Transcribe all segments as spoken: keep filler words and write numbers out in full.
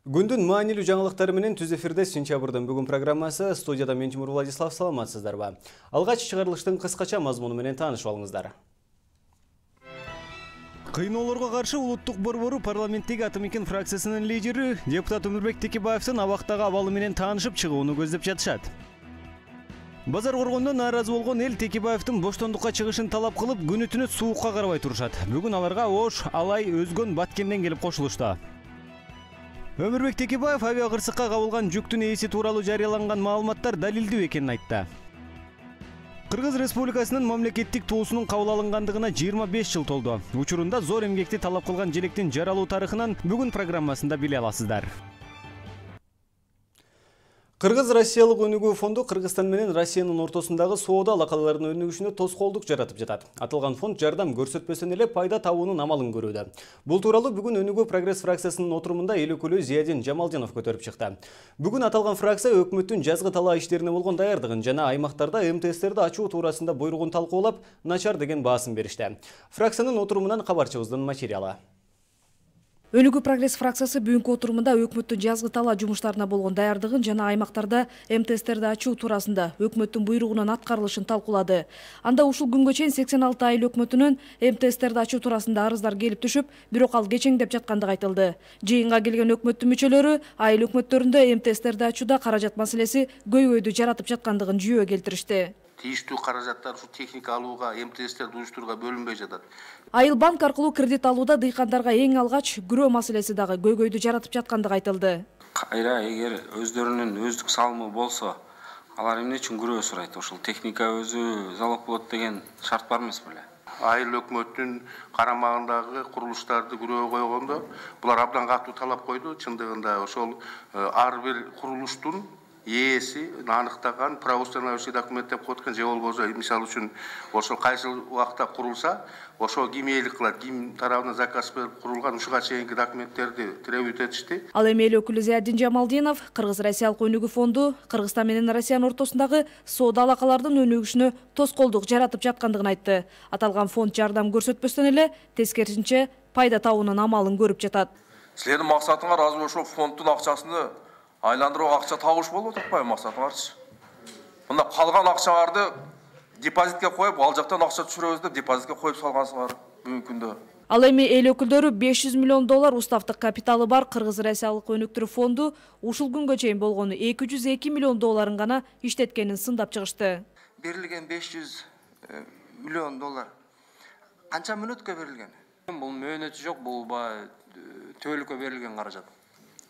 Күндүн маанилүү жаңылыктары менен түз эфирде сентябрдын бүгүн программасы. Студияда мен Тимур Владислав, саламатсыздарбы? Алгач чыгарылыштын кыскача мазмуну менен таанышып алыңыздар. Кыйноолорго каршы улуттук борбору парламенттеги Атамекен фракциясынын лидери депутат Өмүрбек Текебаевдин абактагы абалы менен таанышып чыгууну көздөп жатышат. Базар коргондон нааразы болгон эл Текебаевдин боштондукка чыгышын талап кылып, күнү-түнү суукка карабай турушат. Бүгүн аларга Ош, Алай, Өзгөн, Баткенден келип кошулушту. Өмүрбек Текебаев авиа кырсыкка кабылган жүктүн ээси тууралуу жарыяланган маалыматтар далилдүү экенин айтты. Кыргыз Республикасынын мамлекеттик туусунун кабыл алынгандыгына жыйырма беш жыл толду. Учурунда зор эмгекти талап кылган желектин жаралуу тарыхынан бүгүн программасында биле аласыздар. Кыргыз-Россиялык өнүгүү фонду Кыргызстан менен Россиянын ортосундагы соода алакаларынын өнүгүшүнө тоскоолдук жаратып жатат. Аталган фонд жардам көрсөтпөсөн эле пайда табуунун амалын көрүүдө. Бул тууралуу бүгүн Өнүгүү прогресс фракциясынын отурумунда эл өкүлү Зиядин Жамалдинов көтөрүп чыкты. Бүгүн аталган фракция өкмөттүн жазгы талаа иштерине болгон даярдыгын жана аймактарда эм тэ эстерди ачуу туурасында буйругун талкуулап, начар деген баасын беришти. Фракциянын отурумунан кабарчыбыздын материалы. Өнүгүү прогресс фракциясы бүгүнкү отурумунда өкмөттүн жазгы талаа жумуштарына болгон даярдыгын жана аймактарда эм тэ эстерди ачуу туурасында өкмөттүн буйругунун аткарылышын талкуулады. Анда ушул күнгө чейин сексен алты айыл өкмөтүнөн эм тэ эстерди ачуу туурасында арыздар келип түшүп, бирок ал кечеңдеп жаткандыгы айтылды. Жыйынга келген өкмөттүн мүчөлөрү айыл өкмөттөрүндө эм тэ эстерди ачууда каражат маселеси көйгөйдү жаратып жаткандыгын жүйө келтиришти. Тийиштүү каражаттар ушу техника алууга, эм тэ эстерди уюштурууга бөлүнбөй жатат. Айыл банк аркылуу кредит алууда дыйкандарга эң алгач күрөө маселеси дагы көйгөйдү жаратып жаткандыгы айтылды. Кайра эгер өздөрүнүн өздүк салымы болсо, алар эмне үчүн күрөө сурайт? Ошол техника өзү залог болот деген шарт бар эмес беле? Айыл өкмөттүн карамагындагы курулуштарды күрөө койгондо, булар абдан катуу талап койду. Чындыгында ошол ар бир курулуштун ээси аныктаган правоустанавливающий документ деп коет экен, же болбосо мисалы үчүн ошол кайсы убакта курулса, ошо ким ээлик кылат, ким тарабынан заказ берип курулган, ушуга чейинки документтерди требуют этишти. Ал эми эл өкүлү Зиядин Жамалдинов Кыргыз-Россиялык өнүгүү фонду Кыргызстан менен Россиянын ортосундагы соода алакалардын өнүгүшүнө тоскоолдук жаратып жаткандыгын айтты. Аталган фонд жардам көрсөтпөстөн эле тескерисинче пайда табуунун амалын көрүп жатат. Силердин максатыңар азыр ошол фонддун акчасыны айландырууга акча табыш болуп атпайбы максатыңарчы? Мында калган акчаларды депозитке коюп, ал жактан акча түшүрөбүз деп депозитке коюп салгансыңар бүгүнкү күндө. Ал эми эл өкүлдөрү беш жүз миллион доллар устаптык капиталы бар Кыргыз-Россиялык өнүктүрүү фонду ушул күнгө чейин болгону эки жүз эки миллион долларын гана иштеткенин сындап чыгышты. Берилген беш жүз миллион доллар канча мөөнөткө берилген? Бул мөөнөтү жок, бул баягы төөлүккө берилген каражат.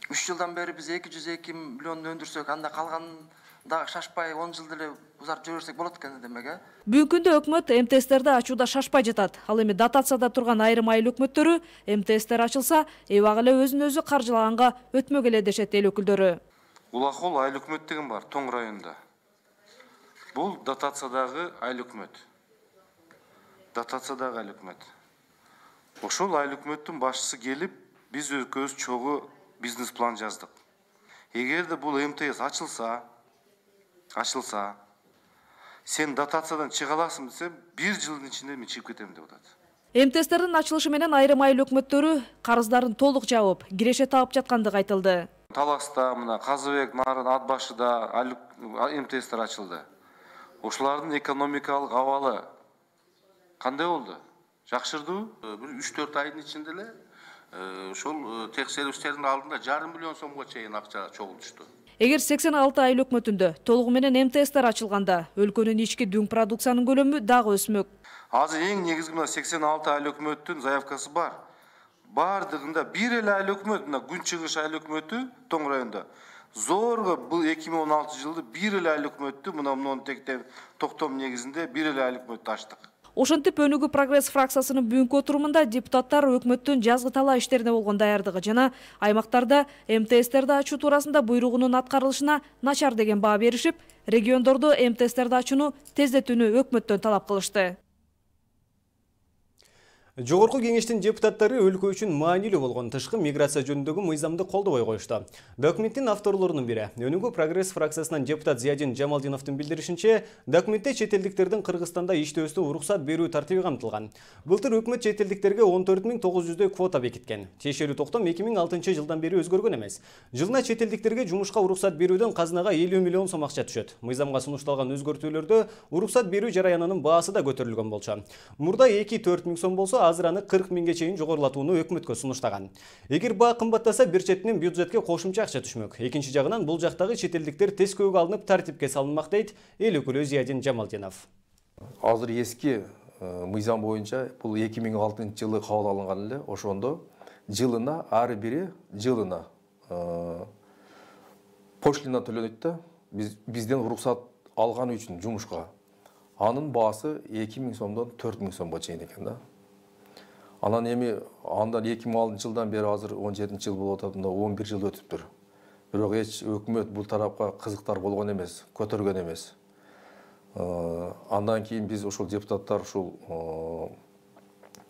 үч жылдан бери биз эки жүз эки миллион өндүрсөк, анда калган да шашпай он жыл деле узартып жиберсек болот экен демек, э? Бүгүнкү күндө өкмөт эм тэ эстерди ачууда шашпай жатат. Ал эми дотацияда турган айрым айыл өкмөттөрү эм тэ эстер ачылса, эбак эле өзүн өзү каржылаганга өтмөк эле дешет эл өкүлдөрү. Улакол айыл өкмөт деген бар, Тоң районунда. Бул дотациядагы айыл өкмөт. Дотациядагы айыл өкмөт. Ошол айыл өкмөттүн башчысы келип, биз экөөбүз чогуу бизнес план жаздык. Эгерде бул эм тэ эс ачылса, ачылса, сен дотациядан чыга аласың десе, бир жылдын ичинде мен чыгып кетем деп атат. эм тэ эстердин ачылышы менен айрым айыл өкмөттөрү карыздарын толук жабып, киреше таап жаткандыгы айтылды. Таласта, мына Казыбек, Нарын, Ат башыда эм тэ эстер ачылды. Ошолардын экономикалык абалы кандай болду? Жакшырдыбы? Бир үч төрт айдын ичинде эле ошол текшерүүчүлөрдүн алдында жарым миллион сомго чейин акча чогултушту. Эгер сексен алты айыл өкмөтүндө толугу менен эм тэ эстер ачылганда, өлкөнүн ички дүң продукциянын көлөмү дагы өсмөк. Азыр эң негизги мына сексен алты айыл өкмөттүн заявкасы бар. Бардыгында бир эле айыл өкмөт, мына Күнчыгыш айыл өкмөтү Тоң районунда. Зорго бул эки миң он алтынчы жылы бир эле айыл өкмөттү, мына мунун тектен токтом негизинде бир эле айыл өкмөттү ачтык. Ошентип Өнүгүү прогресс фракциясынын бүгүнкү отурумунда депутаттар өкмөттүн жазгы талаа иштерине болгон даярдыгы жана аймактарда эм тэ эстерди ачуу туурасында буйругунун аткарылышына начар деген баа беришип, региондордо эм тэ эстерди ачууну тездетүүнү өкмөттөн талап кылышты. Жогорку кеңештин депутаттары өлкө үчүн маанилүү болгон тышкы миграция жөнүндөгү мыйзамды колдобой коюшту. Документтин авторлорунун бири Өнүгүү прогресс фракциясынан депутат Зиядин Жамалдиновдун билдиришинче, документте чет элдиктердин Кыргызстанда иштөөсүнө уруксат берүү тартиби камтылган. Былтыр өкмөт чет элдиктерге он төрт миң тогуз жүздөй квота бекиткен. Тиешелүү токтом эки миң алтынчы жылдан бери өзгөргөн эмес. Жылына чет элдиктерге жумушка уруксат берүүдөн казынага элүү миллион сом акча түшөт. Мыйзамга сунушталган өзгөртүүлөрдө уруксат берүү жараянынын баасы да көтөрүлгөн болчу. Мурда эки төрт миң сом болсо, азыр аны кырк миңге чейин жогорулатууну өкмөткө сунуштаган. Эгер баа кымбаттаса, бир четинен бюджетке кошумча акча түшмөк. Экинчи жагынан бул жактагы чет элдиктер тескөөгө алынып тартипке салынмак дейт эл өкүлү Зиядин Жамалдинов. Азыр эски мыйзам боюнча бул эки миң алтынчы жылы кабыл алынган эле. Ошондо жылына ар бири жылына пошлина төлөнөт да, биз бизден уруксат алган үчүн жумушка. Анын баасы эки миң сомдон төрт миң сомго чейин экен да. Анан эми андан эки миң алтынчы жылдан бери азыр он жетинчи жыл болуп атат, он бир жыл өтүптүр. Бирок эч өкмөт бул тарапка кызыктар болгон эмес, көтөргөн эмес. Андан кийин биз ошол депутаттар ушул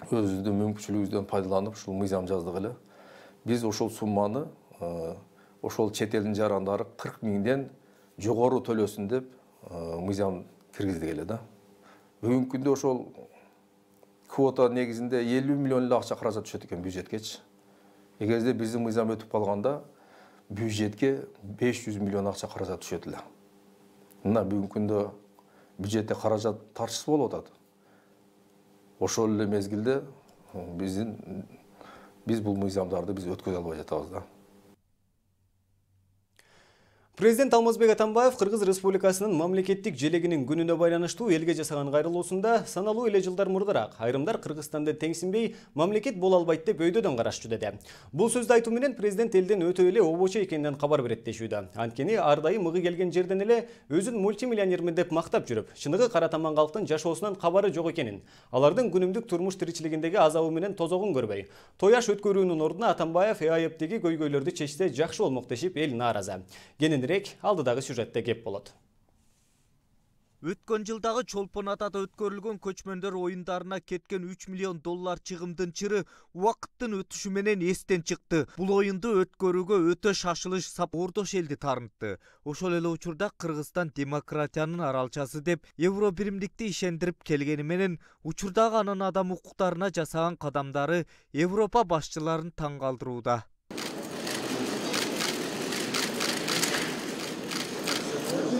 өзүбүздүн мүмкүнчүлүгүбүздөн пайдаланып ушул мыйзам жаздык эле. Биз ошол сумманы ошол чет элдин жарандары кырк миңден жогору төлөсүн деп мыйзам киргиздик эле да. Бүгүнкү күндө ошол квота негизинде элүү миллион эле акча каражат түшөт экен бюджетке. Эгерде биздин мыйзам өтүп калганда бюджетке беш жүз миллион акча каражат түшөт эле. Мына бүгүнкү күндө бюджетте каражат тарчысы болуп атат. Ошол эле мезгилде биздин биз бул мыйзамдарды биз өткөзө албай жатабыз да. Президент Алмазбек Атамбаев Кыргыз Республикасынын мамлекеттик желегинин күнүнө байланыштуу элге жасаган кайрылуусунда саналуу эле жылдар мурдараак айрымдар Кыргызстанды теңсинбей мамлекет боло албайт деп өйдөдөн карашчу деди. Бул сөздү айтуу менен президент элден өтө эле обочо экенинен кабар берет дешүүдө. Анткени ар дайым мыгы келген жерден эле өзүн мультимиллионермин деп мактап жүрүп, чыныгы кара таман калктын жашоосунан кабары жок экенин, алардын күнүмдүк турмуш тиричилигиндеги азабы менен тозогун көрбөй, тояш өткөрүүнүн ордуна Атамбаев ЭАЭПтеги көйгөйлөрдү чечсе жакшы болмок дешип эл нааразы. Алдыдагы сюжетте кеп болот. Өткөн жылдагы Чолпон Атада өткөрүлгөн көчмөндөр оюндарына кеткен үч миллион доллар чыгымдын чыры убакыттын өтүшү менен эстен чыкты. Бул оюнду өткөрүүгө өтө шашылыш сап ордош элди тарынтты. Ошол эле учурда Кыргызстан демократиянын аралчасы деп Евро биримдикти ишендирип келгени менен учурдагы анын адам укуктарына жасаган кадамдары Европа башчыларын таң калтырууда.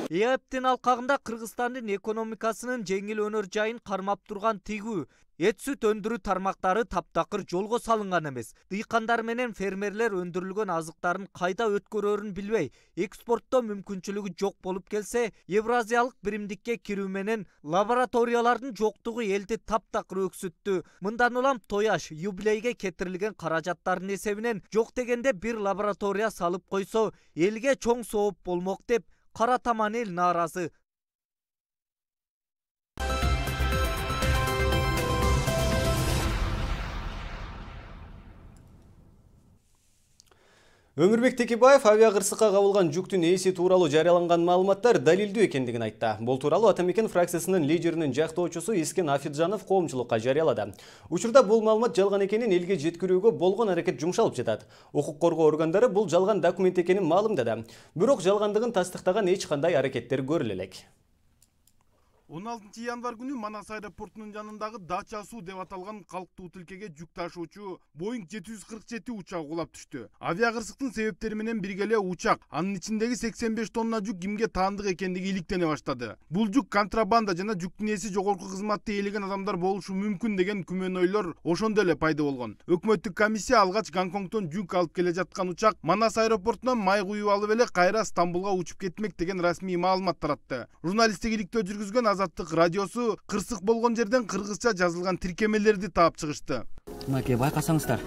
ЭАЭПтин алкагында Кыргызстандын экономикасынын жеңил өнөр жайын кармап турган тигүү, эт сүт өндүрүү тармактары таптакыр жолго салынган эмес. Дыйкандар менен фермерлер өндүрүлгөн азыктарын кайда өткөрөрүн билбей, экспорттоо мүмкүнчүлүгү жок болуп келсе, Евразиялык биримдикке кирүү менен лабораториялардын жоктугу элди таптакыр өксүттү. Мындан улам тояш, юбилейге кетирилген каражаттардын эсебинен жок дегенде бир лаборатория салып койсо, элге чоң сооп болмок деп кара таман эл нааразы. Өмүрбек Текебаев авиакырсыкка кабылган жүктүн ээси тууралуу жарыяланган маалыматтар далилдүү экендигин айтты. Бул тууралуу Атамекен фракциясынын лидеринин жактоочусу Искен Афиджанов коомчулукка жарыялады. Учурда бул маалымат жалган экенин элге жеткирүүгө болгон аракет жумшалып жатат. Укук коргоо органдары бул жалган документ экенин маалымдады. Бирок жалгандыгын тастыктаган эч кандай аракеттер көрүлө элек. он алтынчы январь күнү Манас аэропортунун жанындагы Дача суу деп аталган калктуу тилкеге жүк ташуучу Боинг жети жүз кырк жети учагы кулап түштү. Авиакырсыктын себептери менен бирге эле учак, анын ичиндеги сексен беш тонна жүк кимге таандык экендиги иликтене баштады. Бул жүк контрабанда жана жүктүн ээси жогорку кызматты ээлеген адамдар болушу мүмкүн деген күмөн ойлор ошондо эле пайда болгон. Өкмөттүк комиссия алгач Гонконгдон жүк алып келе жаткан учак Манас аэропортунан май куюп алып эле кайра Стамбулга учуп кетмек деген расмий маалымат таратты. Журналисттик иликтөө жүргүзгөн Азаттык радиосу кырсык болгон жерден кыргызча жазылган тиркемелерди таап чыгышты. Мынакей байкасаңыздар.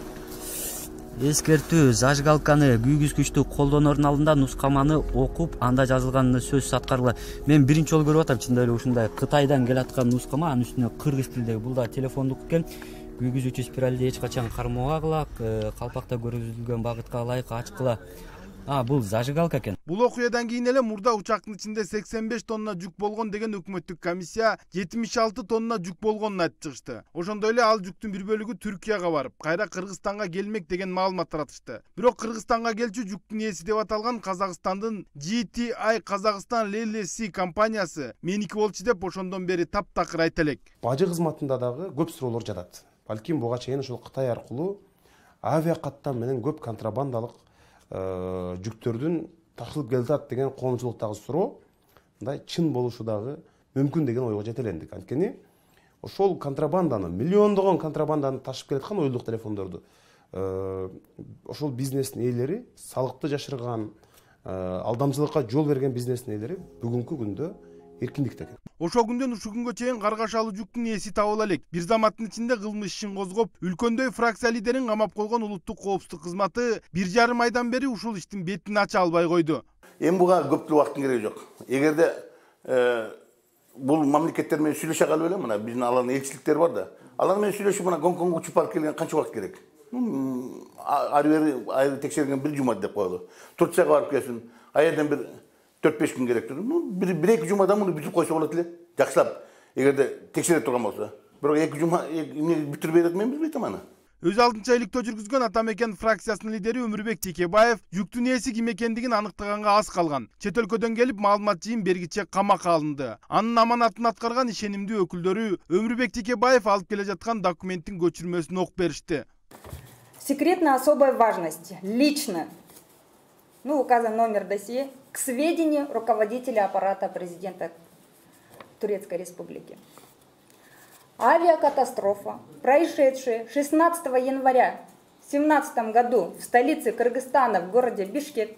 Эскертүү, зажигалканы күйгүзгүчтү колдонордун алдында нускаманы окуп, анда жазылган сөз аткарыла. Мен биринчи жолу көрүп атам, чындап эле ушундай Кытайдан келаткан нускама, анын үстүнө кыргыз тилдеги. Бул да телефондук экен. Күйгүзүүчү спиралди эч качан кармоогагыла, калпакта көрсөтүлгөн багытка ылайык ачкыла А, бул зажигалка экен. Бул окуядан кийин эле мурда учактын ичинде сексен беш тонна жүк болгон деген өкмөттүк комиссия жетимиш алты тонна жүк болгонун айтып чыгышты. Ошондой эле ал жүктүн бир бөлүгү Түркияга барып, кайра Кыргызстанга келмек деген маалымат таратышты. Бирок Кыргызстанга келчү жүктүн ээси деп аталган Казакстандын Джи Ти Ай Казакстан Эл Эл Си компаниясы меники болчу деп ошондон бери таптакыр айта элек. Бажы кызматында дагы көп суроолор жатат. Балким буга чейин ушул Кытай аркылуу авиа каттам менен көп контрабандалык жүктөрдүн ташылып келатат деген коомчулуктагы суроо мындай чын болушу дагы мүмкүн деген ойго жетелендик. Анткени ошол контрабанданы, миллиондогон контрабанданы ташып келаткан уюлдук телефондорду ошол бизнестин ээлери, салыкты жашырган, алдамчылыкка жол берген бизнестин ээлери бүгүнкү күндө эркиндикте экен. Ошол күндөн ушул күнгө чейин каргашалуу жүктүн ээси табыла элек. Бир заматтын ичинде кылмыш ишин козгоп, үлкөндөй фракция лидерин камап койгон улуттук коопсуздук кызматы бир жарым айдан бери ушул иштин бетин ача албай койду. Эми буга көптүк убакыттын кереги жок. Эгерде бул мамлекеттер менен сүйлөшө калып эле, мына биздин алардын элчиликтери бар да. Алар менен сүйлөшүп мына Гонконгго учуп барып келген канча убакыт керек? Ары бери айры текшерген бир жума деп коелу. Турцияга барып келсин, аерден бир төрт беш күн керек. Ну, бир эки жумада муну бүтүп койсо болот эле. Жакшылап, эгерде текшере турган болсо. Бирок эки жума эмне бүтүрбөй берет, мен билбейм аны. Өз алдынча иликтөө жүргүзгөн Атамекен фракциясынын лидери Өмүрбек Текебаев жүктүн ээси ким экендигин аныктаганга аз калган. Чет өлкөдөн келип маалымат жыйын бергиче камакка алынды. Анын аманатын аткарган ишенимдүү өкүлдөрү Өмүрбек Текебаев алып келе жаткан документтин көчүрмөсүн окуп беришти. Секретно особой важности лично, ну, указан номер досье, к сведению руководителя аппарата президента Турецкой Республики. Авиакатастрофа, происшедшая шестнадцатого января в семнадцатом году в столице Кыргызстана, в городе Бишкек,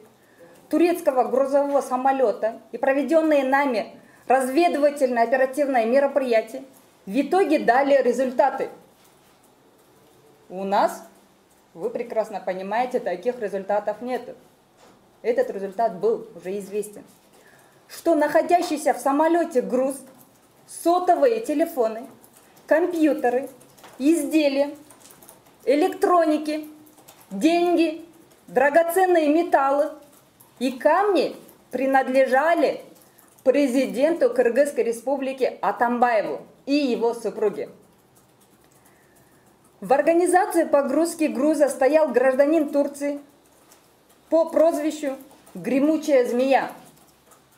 турецкого грузового самолета и проведенные нами разведывательно-оперативные мероприятия в итоге дали результаты. У нас, вы прекрасно понимаете, таких результатов нет. Этот результат был уже известен. Что находящийся в самолете груз, сотовые телефоны, компьютеры, изделия, электроники, деньги, драгоценные металлы и камни принадлежали президенту Кыргызской Республики Атамбаеву и его супруге. В организации погрузки груза стоял гражданин Турции по прозвищу «Гремучая змея»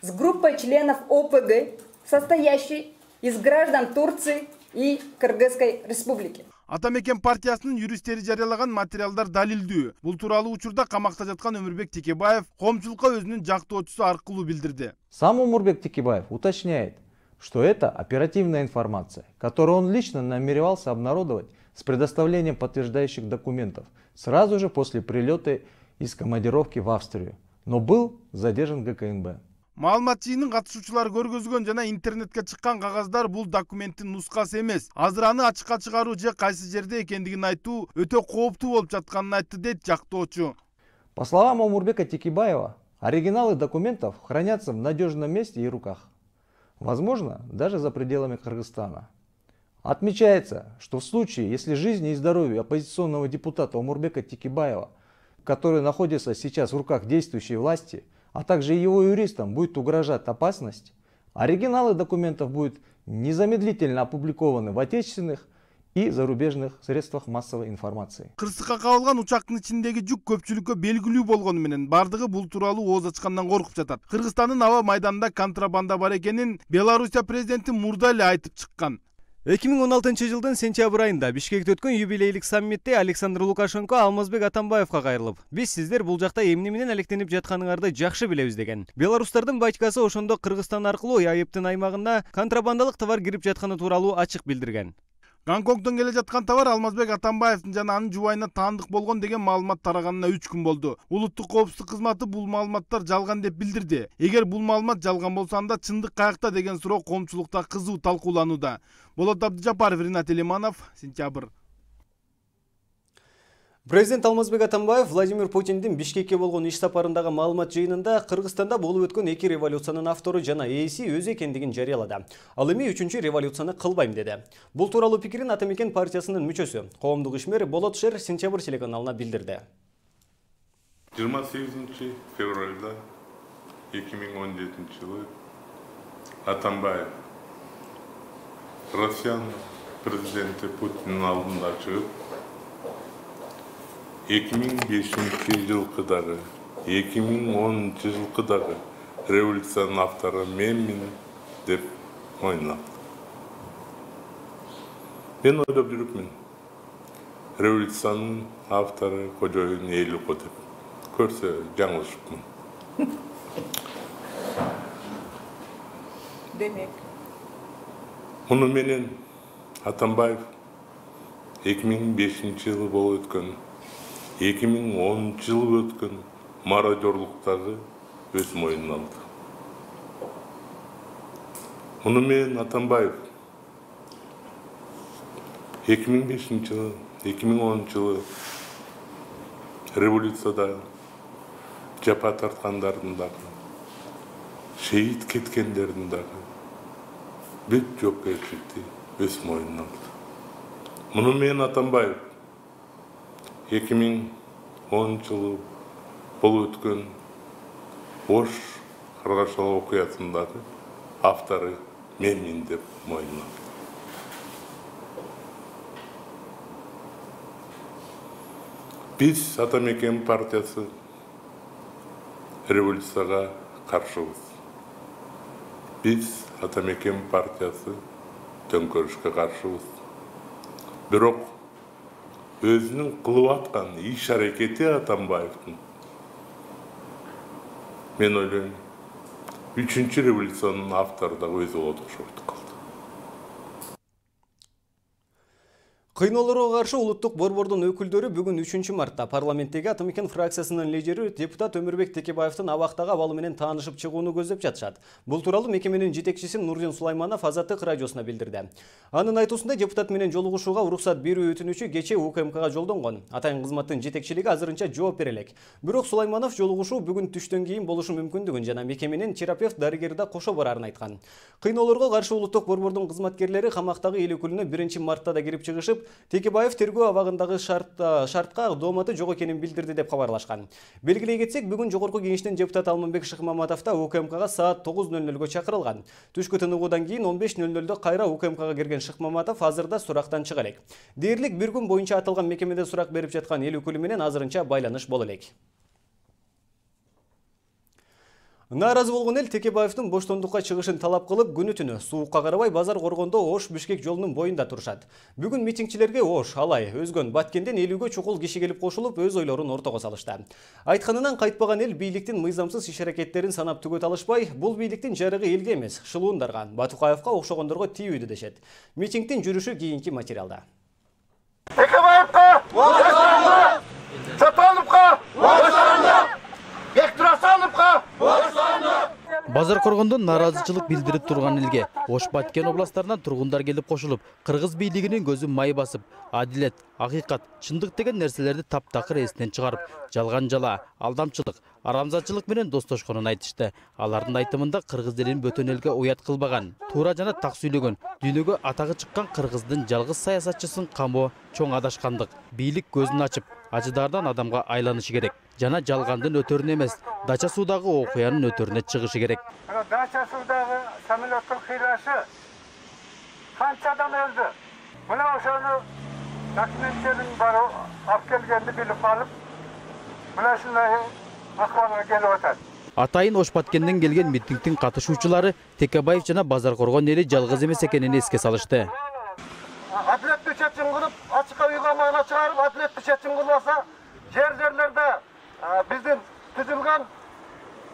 с группой членов О П Г, состоящей из граждан Турции и Кыргызской Республики. Атамекен партиясынын юристтери жарыялаган материалдар далилдүү. Бул тууралуу учурда камакта жаткан Өмүрбек Текебаев коомчулукка өзүнүн жактоочусу аркылуу билдирди. Сам Өмүрбек Текебаев уточняет, что это оперативная информация, которую он лично намеревался обнародовать с предоставлением подтверждающих документов сразу же после прилета из командировки в Австрию, но был задержан Г К Н Б. Маалымат жыйынын катышуучулары көргөзгөн жана интернетке чыккан кагаздар бул документтин нускасы эмес. Азыр аны ачыкка чыгаруу же кайсы жерде экендигин айтуу өтө кооптуу болуп жатканын айтты дейт жактоочу. По словам Омурбека Текебаева, оригиналы документов хранятся в надежном месте и руках. Возможно, даже за пределами Кыргызстана. Отмечается, что в случае, если жизни и здоровью оппозиционного депутата Омурбека Текебаева, который находится сейчас в руках действующей власти, а также его юристам будет угрожать опасность, оригиналы документов будут незамедлительно опубликованы в отечественных и зарубежных средствах массовой информации. Кырсыкка кабылган учактын ичиндеги жүк көпчүлүккө белгилүү болгону менен бардыгы бул тууралуу ооз ачкандан коркуп жатат. Кыргызстандын аба майданында контрабанда бар экенин Белоруссия президенти мурда эле айтып чыккан. эки миң он алтынчы жылдын сентябрь айында Бишкекте өткөн юбилейлик саммитте Александр Лукашенко Алмазбек Атамбаевка кайрылып, биз сиздер бул жакта эмне менен алектенип жатканыңарды жакшы билебиз деген. Белорустардын батькасы ошондо Кыргызстан аркылуу Айыптын аймагына контрабандалык товар кирип жатканы тууралуу ачык билдирген. Гонконгдон келе жаткан товар Алмазбек Атамбаевдин жана анын жубайына таандык болгон деген маалымат тараганына үч күн болду. Улуттук коопсуздук кызматы бул маалыматтар жалган деп билдирди. Эгер бул маалымат жалган болсо анда чындык каякта деген суроо коомчулукта кызуу талкууланууда. Болот Абдыжапаров, Ринат Элиманов, сентябрь. Президент Алмазбек Атамбаев Владимир Путиндин Бишкекке болгон иш сапарындагы маалымат жыйынында Кыргызстанда болуп өткөн эки революциянын автору жана ээси өзү экендигин жарыялады. Ал эми үчүнчү революцияны кылбайм деди. Бул тууралуу пикирин Атамекен партиясынын мүчөсү, коомдук ишмер Болот Шер сентябрь телеканалына билдирди. жыйырма сегизинчи февралда эки миң он жетинчи жылы Атамбаев Россиянын президенти Путиндин алдында чыгып, эки миң бешинчи жылкы дагы, эки миң онунчу жылкы дагы революциянын автору менмин деп мойнунат. Мен ойлоп жүрүпмүн, революциянын автору кожоюн эли го деп. Көрсө жаңылышыпмын. Демек. Муну менен Атамбаев эки миң бешинчи жылы болуп өткөн, эки миң онунчу жылы өткөн мародёрлуктагы өз мойнуна алды. Муну менен Атамбаев эки миң бешинчи жылы, эки миң онунчу жылы революцияда жапа тарткандардын дагы, шейит кеткендердин дагы бүт жоопкерчиликти өз мойнуна алды. Муну менен Атамбаев эки миң онунчу жылы болуп өткөн Ош Каргашалы окуясындагы автору менмин деп мойнуна алды. Биз Атамекен партиясы революцияга каршыбыз. Биз Атамекен партиясы төңкөрүшкө каршыбыз. Бирок өзүнүн кылып аткан иш-аракети Атамбаевдин, мен ойлойм, үчүнчү революциянын автору да өзү болот окшоп калды. Кыйноолорго каршы улуттук борбордун өкүлдөрү бүгүн үчүнчү мартта парламенттеги Атамекен фракциясынын лидери депутат Өмүрбек Текебаевдин абактагы абалы менен таанышып чыгууну көздөп жатышат. Бул тууралуу мекеменин жетекчиси Нурдин Сулайманов Азаттык радиосуна билдирди. Анын айтуусунда депутат менен жолугушууга уруксат берүү өтүнүчү кечээ У К М Кга жолдонгон. Атайын кызматтын жетекчилиги азырынча жооп бере элек. Бирок Сулайманов жолугушуу бүгүн түштөн кийин болушу мүмкүндүгүн жана мекеменин терапевт дарыгери да кошо барарын айткан. Кыйноолорго каршы улуттук борбордун кызматкерлери камактагы эл өкүлүнө биринчи мартта да кирип чыгышып, Текебаев тергөө абагындагы шартка дооматы жок экенин билдирди деп кабарлашкан. Белгилей кетсек, бүгүн жогорку кеңештин депутаты Алмамбек Шыкмаматов да У К М Кга саат тогуз нөл нөлгө чакырылган. Түшкү тыныгуудан кийин он беш нөл нөлдө кайра У К М Кга кирген Шыкмаматов азырда сурактан чыга элек. Дээрлик бир күн боюнча аталган мекемеде сурак берип жаткан эл өкүлү менен азырынча байланыш боло элек. Нааразы болгон эл Текебаевдин боштондукка чыгышын талап кылып, күнү-түнү суукка карабай базар коргондо Ош-Бишкек жолунун боюнда турушат. Бүгүн митингчилерге Ош, Алай, Өзгөн, Баткенден элүүгө чукул киши келип кошулуп, өз ойлорун ортого салышты. Айтканынан кайтпаган эл бийликтин мыйзамсыз иш-аракеттерин санап түгөт алышпай, бул бийликтин жарыгы элге эмес, шылуундарга, Батукаевка окшогондорго тийүүдө дешет. Митингдин жүрүшү кийинки материалда. Текебаевка боштондук! Чотоновко боштондук! Бектурасановко боштондук! Базар коргондо нааразычылык билдирип турган элге Ош Баткен областарынан тургундар келип кошулуп, кыргыз бийлигинин көзү май басып, адилет, акыйкат, чындык деген нерселерди таптакыр эсинен чыгарып, жалган жала, алдамчылык, арамзатчылык менен достошконун айтышты. Алардын айтымында кыргыз элин бөтөн элге уят кылбаган, туура жана так сүйлөгөн, дүйнөгө атагы чыккан кыргыздын жалгыз саясатчысын камоо чоң адашкандык. Бийлик көзүн ачып, ажыдардан адамга айланышы керек. Жана жалгандын өтөрүнө эмес, Дача суудагы окуянын өтөрүнө чыгышы керек. Дача суудагы самолеттин кыйрашы канча адам өлдү? Мына ошону документтерин бары алып келгенди билип алып, мына ушундай акыбалга келип атат. Атайын Ош Баткенден келген митингдин катышуучулары Текебаев жана базар коргон эли жалгыз эмес экенин эске салышты. Адилеттүү чечим кылып, ачыкка уйгамана чыгарып, адилеттүү чечим кылбаса, жер-жерлерде биздин түзүлгөн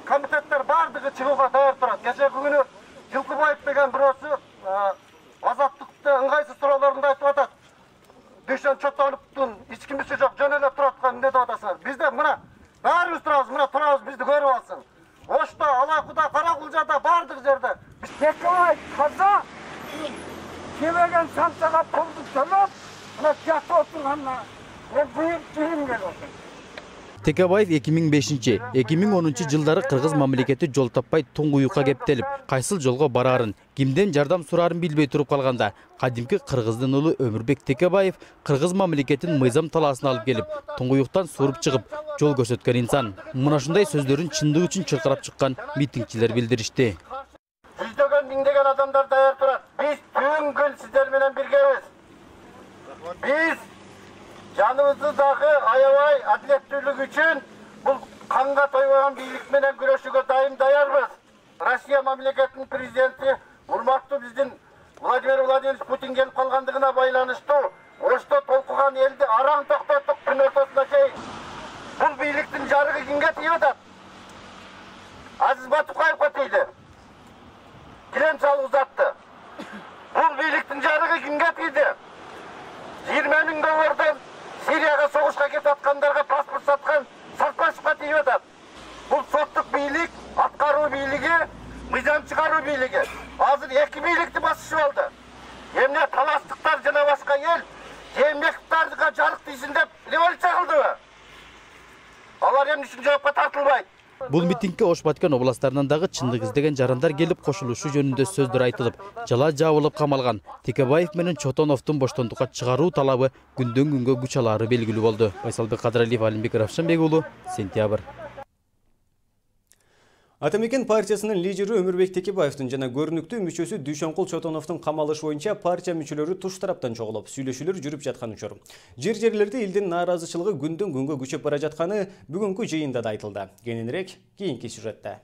комитеттер бардыгы чыгууга даяр турат. Кечеги күнү Жылкыбаев деген бирөөсү азаттыкты ыңгайсыз суроолорунду айтып атат. Дүйшөн Чотоновдун эч кимиси жок, жөн эле туруп аткан эмне деп атасыңар? Бизде мына баарыбыз турабыз, мына турабыз, бизди көрүп алсын. Ошто, Алакуда, Каракулжада бардык жерде Текебаев таза кебеген санчага пулду төлөп, мына жатып отурганына мен буйрук жыйым келип атат. Текебаев эки миң бешинчи — эки миң онунчу жылдары кыргыз мамлекети жол таппай туңгуюкка кептелип, кайсыл жолго барарын, кимден жардам сурарын билбей туруп калганда, кадимки кыргыздын уулу Өмүрбек Текебаев кыргыз мамлекетин мыйзам талаасына алып келип, туңгуюктан суруп чыгып, жол көрсөткөн инсан. Мына ушундай сөздөрүн чындык үчүн чыркырап чыккан митингчилер билдиришти. Жүздөгөн миңдеген адамдар даяр турат. Биз түн күн сиздер менен биргебиз. Биз жаныбызды дагы аябай адилеттүүлүк үчүн бул канга тойбогон бийлик менен күрөшүүгө дайым даярбыз. Россия мамлекетинин президенти урматтуу биздин Владимир Владимирович Путин келип калгандыгына байланыштуу Ошто толкуган элди араң токтоттук күн ортосуна чейин. Бул бийликтин жарыгы кимге тийип атат? Азиз Батукаевге тийди. Килем салып узатты. Бул бийликтин жарыгы кимге тийди? жыйырма миң доллардан Сирияга согушка кетип аткандарга паспорт саткан Сартбашевге тийип атат. Бул соттук бийлик, аткаруу бийлиги, мыйзам чыгаруу бийлиги. Азыр эки бийликти басышып алды. Эмне таластыктар жана башка эл жемектарга жарык тийсин деп революция кылдыбы? Алар эмне үчүн жоопко тартылбайт? Бул митингке Ош Баткен областарынан дагы чындык издеген жарандар келип кошулушу жөнүндө сөздөр айтылып, жала жабылып камалган. Текебаев менен Чотоновдун боштондукка чыгаруу талабы күндөн күнгө күч алары белгилүү болду. Байсалбек Кадыралиев, Алимбек Равшанбек уулу, Сентябрь. Атамекен партиясынын лидери Өмүрбек Текебаевдин жана көрүнүктүү мүчөсү Дүйшөнкул Чотоновдун камалышы боюнча партия мүчөлөрү туш тараптан чогулуп, сүйлөшүүлөр жүрүп жаткан учур. Жер-жерлерде элдин нааразычылыгы күндөн күнгө күчөп бара жатканы бүгүнкү жыйында да айтылды. Кененирээк кийинки сюжетте.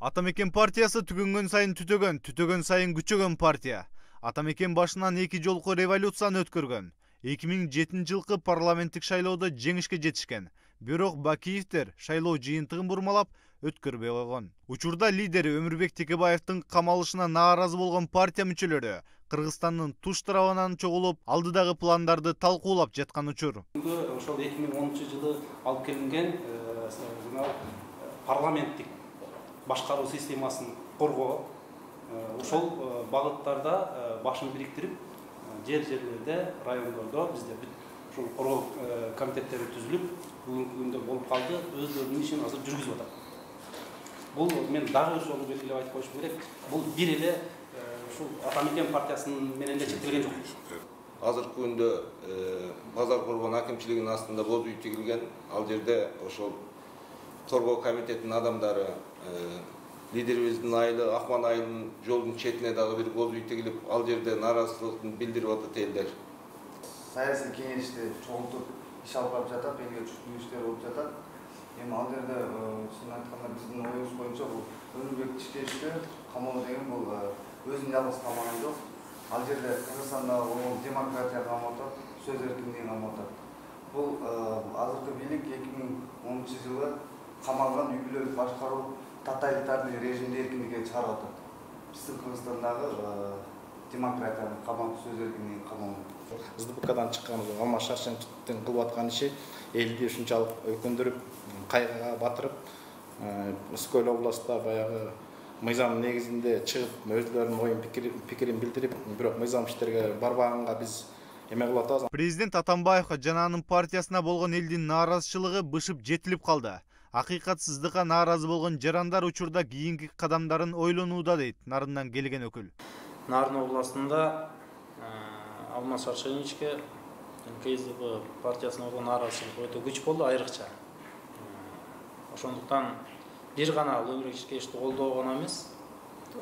Атамекен партиясы түгөнгөн сайын түтөгөн, түтөгөн сайын күчөгөн партия. Атамекен башынан эки жолку революцияны өткөргөн. эки миң жетинчи жылкы парламенттик шайлоодо жеңишке жетишкен. Бирок Бакиевдер шайлоо жыйынтыгын бурмалап өткөрбөй койгон. Учурда лидери Өмүрбек Текебаевдин камалышына нааразы болгон партия мүчөлөрү Кыргызстандын туш тарабынан чогулуп, алдыдагы пландарды талкуулап жаткан учур. Ошол эки миң онунчу жылы алып келинген парламенттик башкаруу системасын коргоо, ошол багыттарда башын бириктирип, жер-жерлерде, райондордо бизде ушул коргоо комитеттери түзүлүп, бүгүнкү күндө болуп калды, өздөрүнүн ишин азыр жүргүзүп атат. Бул мен дагы ошол белгилеп айтып коюшум керек. Бул бир эле ушул Атамекен партиясынын менен эле чектелген жок. Азыркы күндө Базар Коргон акимчилигинин астында боз үй тигилген. Ал жерде ошол коргоо комитетинин адамдары лидерибиздин айылы Акман айылынын жолдун четине дагы бир боз үй тигилип, ал жерде нааразычылыгын билдирип атат элдер. Саясий кеңешти чогултуп иш алып барып жатат, элге чүктүү иштер болуп жатат. Эми ал жерде чын айтканда биздин оюбуз боюнча бул Өмүрбек Текебаевди камоо деген бул өзүн жалгыз камаган жок. Ал жерде Кыргызстанда болгон демократия камап атат, сөз эркиндиги камап атат. Бул азыркы бийлик эки миң онунчу жылы камалган үй бүлөлүк башкаруу тоталитарный режимди эркиндикке чыгарып атат. Биздин Кыргызстандагы демократияны камап, сөз эркиндигин камап. СДПКдан чыккан Алмаз Шаршеновдун кылып аткан иши элди ушунчалык өкүндүрүп, кайгыга батырып, Үскөл областта баягы мыйзам негизинде чыгып, өздөрүнүн оюн пикирин билдирип, бирок мыйзам иштерге барбаганга биз эме кылып атабыз. Президент Атамбаевга жана анын партиясына болгон элдин нааразычылыгы бышып жетилип калды. Акыйкатсыздыкка нааразы болгон жарандар учурда кийинки кадамдарын ойлонууда дейт Нарындан келген өкүл. Нарын областында Алмаз Шаршеновичке КСДП партиясына болгон нааразычылык өтө күч болду, айрыкча. Ошондуктан бир гана Өмүрбек Текебаевди колдоо гана эмес,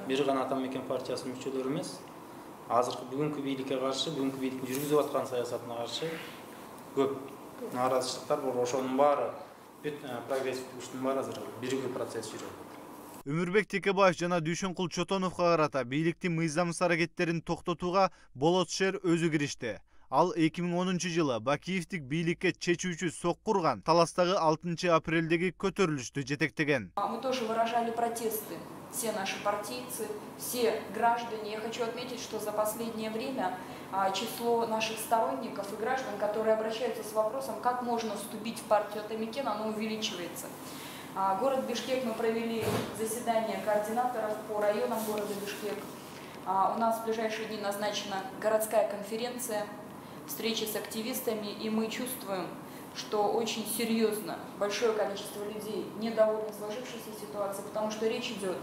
бир гана Атамекен партиясынын мүчөлөрү эмес, азыркы бүгүнкү бийликке каршы, бүгүнкү бийликтин жүргүзүп аткан саясатына каршы көп нааразычылыктар бар. Ошонун баары прогрессивдик күчтүн баары азыр биригүү процесс жүрөт. Өмүрбек Текебаев жана Дүйшөнкул Чотоновго карата бийликтин мыйзамсыз аракеттерин токтотууга Болот Шер өзү киришти. Ал эки миң онунчу жылы Бакиевдик бийликке чечүүчү сокку урган Таластагы алтынчы апрелдеги көтөрүлүштү жетектеген. Мы тоже выражали протесты, все наши партийцы, все граждане. Я хочу отметить, что за последнее время число наших сторонников и граждан, которые обращаются с вопросом, как можно вступить в партию Атамекен, оно увеличивается. Город Бишкек, мы провели заседание координаторов по районам города Бишкек. У нас в ближайшие дни назначена городская конференция, встречи с активистами, и мы чувствуем, что очень серьезно большое количество людей недовольны сложившейся ситуацией, потому что речь идет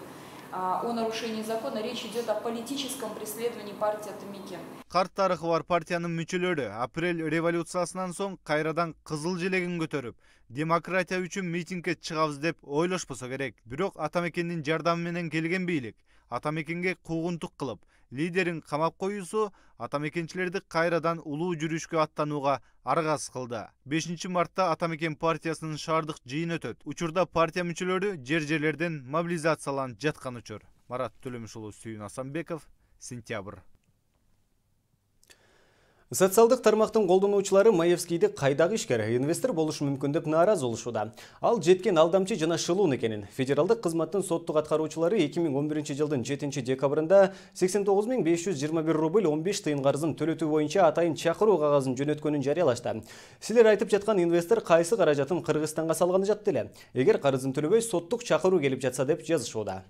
о нарушении закона, речь идет о политическом преследовании партии Атамекен. Карт тарыхы бар партиянын мүчөлөрү апрель революциясынан соң кайрадан кызыл желегин көтөрүп, демократия үчүн митингге чыгабыз деп ойлошпосо керек. Бирок Атамекендин жардамы менен келген бийлик Атамекенге куугунтук кылып, лидерин камап коюусу Атамекенчилерди кайрадан улуу жүрүшкө аттанууга аргасыз кылды. бешинчи мартта Атамекен партиясынын шаардык жыйыны өтөт. Учурда партия мүчөлөрү жер-жерлерден мобилизацияланып жаткан учур. Марат Төлөмүш уулу, Сүйүн Асанбеков, Сентябрь. Социалдык тармактын колдонуучулары Маевскийди кайдагы ишкер инвестор болушу мүмкүн деп нааразы болушууда. Ал жеткен алдамчы жана шылуун экенин. Федералдык кызматтын соттук аткаруучулары эки миң он биринчи жылдын жетинчи декабрында сексен тогуз миң беш жүз жыйырма бир рубль он беш тыйын карызын төлөтүү боюнча атайын чакыруу кагазын жөнөткөнүн жарыялашты. Силер айтып жаткан инвестор кайсы каражатын Кыргызстанга салганы жатты эле. Эгер карызын төлөбөй соттук чакыруу келип жатса деп жазышууда.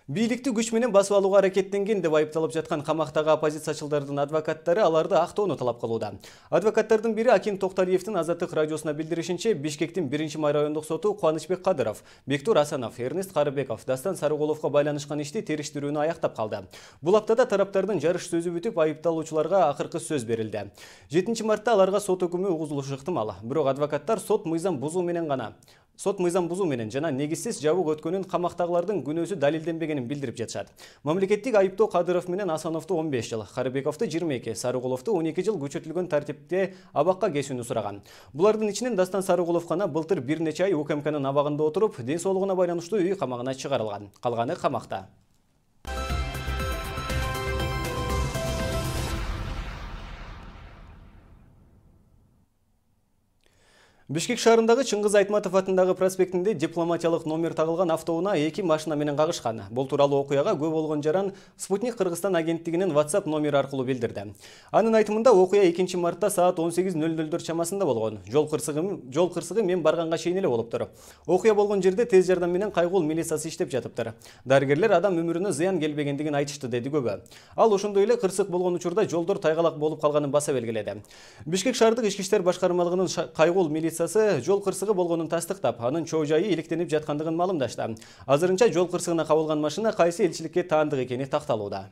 Бийликти күч менен басып алууга аракеттенген деп айыпталып жаткан камактагы оппозициячылардын адвокаттары аларды актоону талап кылууда. Адвокаттардын бири Акин Токталиевдин Азаттык радиосуна билдиришинче, Бишкектин биринчи май райондук соту Кубанычбек Кадыров, Бектур Асанов, Эрнест Карыбеков, Дастан Сарыголовго байланышкан ишти териштирүүнү аяктап калды. Бул аптада тараптардын жарыш сөзү бүтүп, айыпталуучуларга акыркы сөз берилди. жетинчи мартта аларга сот өкүмү угузулушу ыктымал. Бирок адвокаттар сот мыйзам бузуу менен гана Сот мыйзам бузуу менен жана негизсиз жабык өткөнүн камактагылардын күнөөсү далилденбегенин билдирип жатышат. Мамлекеттик айыптоо Кадыров менен Асановду он беш жыл, Карыбековду жыйырма эки, Сарыголовду он эки жыл күчөтүлгөн тартипте абакка кесүүнү сураган. Булардын ичинен Дастан Сарыголов гана былтыр бир нече ай УКМКнын абагында отуруп, ден соолугуна байланыштуу үй камагына чыгарылган. Калганы камакта. Бишкек шаарындагы Чыңгыз Айтматов атындагы проспектинде дипломатиялык номер тагылган автоунаа эки машина менен кагышкан. Бул тууралуу окуяга Көө болгон жаран Спутник Кыргызстан агенттигинин WhatsApp номери аркылуу билдирди. Анын айтымында окуя экинчи мартта саат он сегиз нөл нөлдөр чамасында болгон. Жол кырсыгы жол кырсыгы мен барганга чейин эле болуптур. Окуя болгон жерде тез жардам менен кайгуул милициясы иштеп жатыптыр. Дарыгерлер адам өмүрүнө зыян келбегендигин айтышты, деди Көбө. Ал ошондой эле кырсык болгон учурда жолдор тайгалак болуп калганын баса белгиледи. Бишкек шаардык ички иштер башкармалыгынын кайгуул милиция жол кырсыгы болгонун тастыктап, анын чоо жайы иликтенип жаткандыгын маалымдашты. Азырынча жол кырсыгына кабылган машина кайсы элчиликке таандык экени такталууда.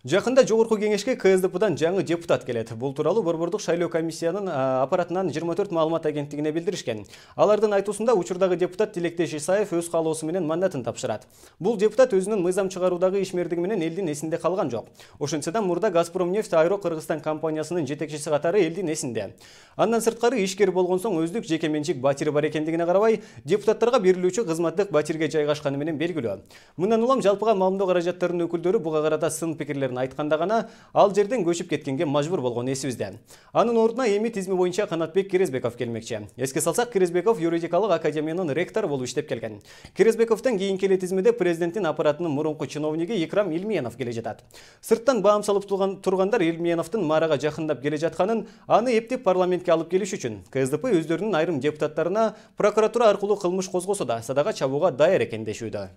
Жакында Жогорку кеңешке КСДПдан жаңы депутат келет. Бул тууралуу Борбордук шайлоо комиссиянын аппаратынан жыйырма төрт маалымат агенттигине билдиришкен. Алардын айтуусунда учурдагы депутат Тилектеш Исаев өз каалоосу менен мандатын тапшырат. Бул депутат өзүнүн мыйзам чыгаруудагы ишмердиги менен элдин эсинде калган жок. Ошентсе да мурда Газпромнефть Аэро Кыргызстан компаниясынын жетекчиси катары элдин эсинде. Андан сырткары ишкер болгон соң өздүк жеке менчик батири бар экендигине карабай, депутаттарга берилүүчү кызматтык батирге жайгашканы менен белгилүү. Мындан улам жалпыга маалымдоо каражаттарынын өкүлдөрү буга карата сын пикирлерин айтканда гана ал жерден көчүп кеткенге мажбур болгон эсибизде. Анын ордуна эми тизми боюнча Канатбек Керезбеков келмекчи. Эске салсак, Керезбеков юридикалык академиянын ректору болуп иштеп келген. Керезбековдон кийинки эле тизмеде президенттин аппаратынын мурунку чиновниги Икрам Илмиянов келе жатат. Сырттан баам салып тургандар Илмияновдун Марага жакындап келе жатканын, аны эптеп парламентке алып келиш үчүн КСДП өздөрүнүн айрым депутаттарына прокуратура аркылуу кылмыш козгосо да садага чабууга даяр экен дешүүдө.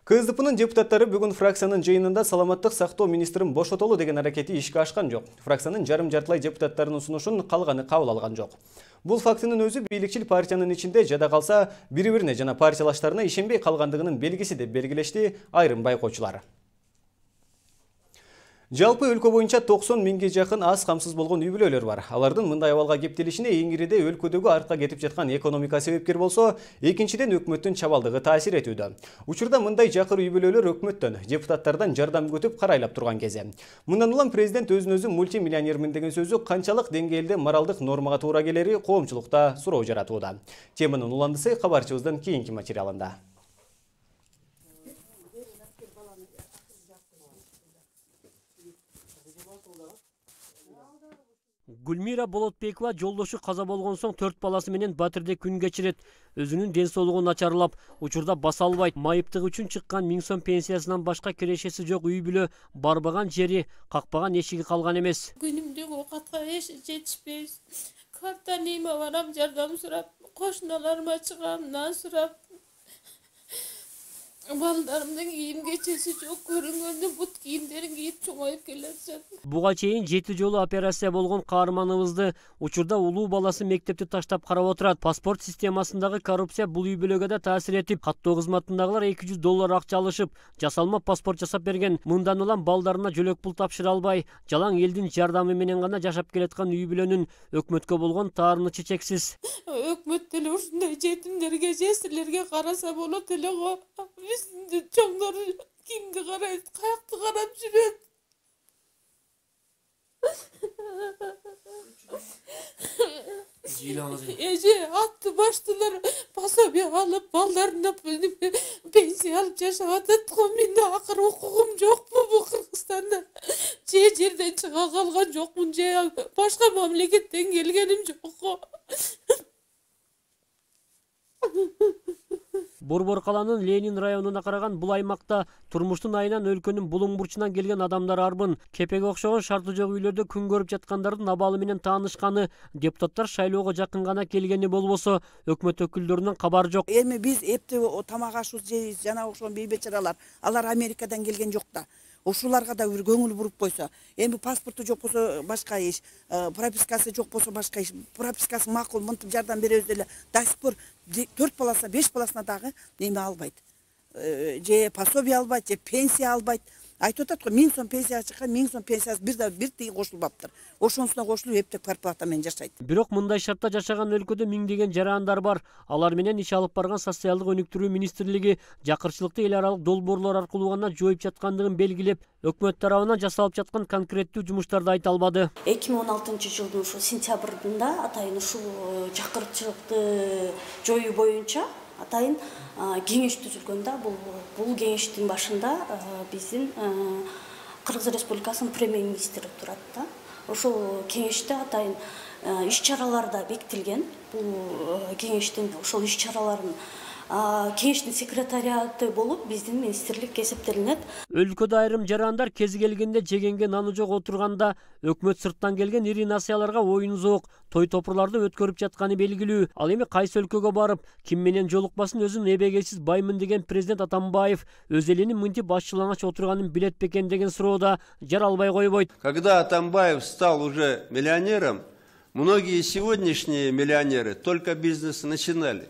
КСДПнын депутаттары бүгүн фракциянын жыйынында саламаттык сактоо министрин бошотолу деген аракети ишке ашкан жок. Фракциянын жарым-жартылай депутаттарынын сунушун калганы кабыл алган жок. Бул фактынын өзү бийликчил партиянын ичинде жада калса бири-бирине жана партиялаштарына ишенбей калгандыгынын белгиси деп белгилешти айрым байкоочулар. Жалпы өлкө боюнча токсон миңге жакын аз камсыз болгон үй-бүлөлөр бар. Алардын мындай абалга кептелишине эң ириде өлкөдөгү артка кетип жаткан экономика себепкер болсо, экинчиден өкмөттүн чабалдыгы таасир этүүдө. Учурда мындай жакыр үй-бүлөлөр өкмөттөн, депутаттардан жардам күтүп карайлап турган кезде. Мындан улам президент өзүн өзү мультимиллионермин деген сөзү канчалык деңгээлде моралдык нормага туура келери коомчулукта суроо жаратууда. Теманын уландысы кабарчыбыздын кийинки материалында. Гүлмира Болотбекова жолдошу каза болгон соң төрт баласы менен Батирде күн кечирет. Өзүнүн ден соолугу начарлап, учурда баса албайт. Майыптык үчүн чыккан миң сом пенсиясынан башка кирешеси жок үй-бүлө, барбаган жери, какпаган эшиги калган эмес. Күнүмдүк оокатка эч жетишпейбиз. Карта нейме барам, жардам сурап, кошуналарыма чыгам, нан сурап, балдарымдын кийим кечеси жок, көрүнгөндө бут кийимдерин кийип чоңоюп келишет. Буга чейин жети жолу операция болгон каарманыбызды учурда улуу баласы мектепти таштап карап отурат. Паспорт системасындагы коррупция бул үй бүлөгө да таасир этип, каттоо кызматындагылар эки жүз доллар акча алышып, жасалма паспорт жасап берген. Мындан улам балдарына жөлөк пул тапшыра албай, жалаң элдин жардамы менен гана жашап келаткан үй бүлөнүн өкмөткө болгон таарынычы чексиз. Өкмөт деле ушундай жетимдерге, жесирлерге караса болот эле го. Биздин чоңдор кимди карайт, каякты карап жүрөт? Эже атты баштылар пособие алып, балдарына пенсия алып жашап атат го. Менде акыры укугум жокпу бу Кыргызстанда? Же жерден чыга калган жокмун, же башка мамлекеттен келгеним жок го. Борбор каланын Ленин районуна караган бул аймакта турмуштун айынан өлкөнүн булуң бурчунан келген адамдар арбын. Кепеге окшогон шарты жок үйлөрдө күн көрүп жаткандардын абалы менен таанышканы, депутаттар шайлоого жакын гана келгени болбосо, өкмөт өкүлдөрүнөн кабар жок. Эми биз эптеп тамак ашуу жейбиз, жана окшогон бейбечаралар, алар Америкадан келген жок да. Ошуларга да бир көңүл буруп койсо, эми паспорту жок болсо башка иш, пропискасы жок болсо башка иш, пропискасы макул мынтип жардам беребиз деле, до сих пор төрт баласына, беш баласына дагы неме албайт. Же пособие албайт, же пенсия албайт. Айтып атат го, миң сом пенсия чыккан, миң сом пенсиясы бир да бир тиги кошулбаптыр. Ошонусуна кошулуп эптеп зарплата менен жашайт. Бирок мындай шартта жашаган өлкөдө миңдеген жарандар бар. Алар менен иш алып барган социалдык өнүктүрүү министрлиги жакырчылыкты эл аралык долбоорлор аркылуу гана жоюп жаткандыгын белгилеп, өкмөт тарабынан жасалып жаткан конкреттүү жумуштарды айта албады. эки миң он алтынчы жылдын ушу сентябрында атайын ушул жакырчылыкты жоюу боюнча атайын кеңеш түзүлгөндө, бул бул кеңештин башында биздин Кыргыз Республикасынын премьер-министри турат да. Ошол кеңеште атайын иш-чаралар да бекитилген. Бул кеңештин ошол иш-чараларын кеңештин секретариаты болуп биздин министрлик эсептелинет. Өлкөдө айрым жарандар кези келгенде жегенге наны жок отурганда өкмөт сырттан келген ири насыяларга оюн зоок, той топурларды өткөрүп жатканы белгилүү. Ал эми кайсы өлкөгө барып, ким менен жолукпасын өзүн эбегейсиз баймын деген президент Атамбаев өз элинин мынтип башчылаңач отурганын билет бекен деген суроода жаралбай койбойт. Когда Атамбаев стал уже миллионером, многие сегодняшние миллионеры только бизнес начинали.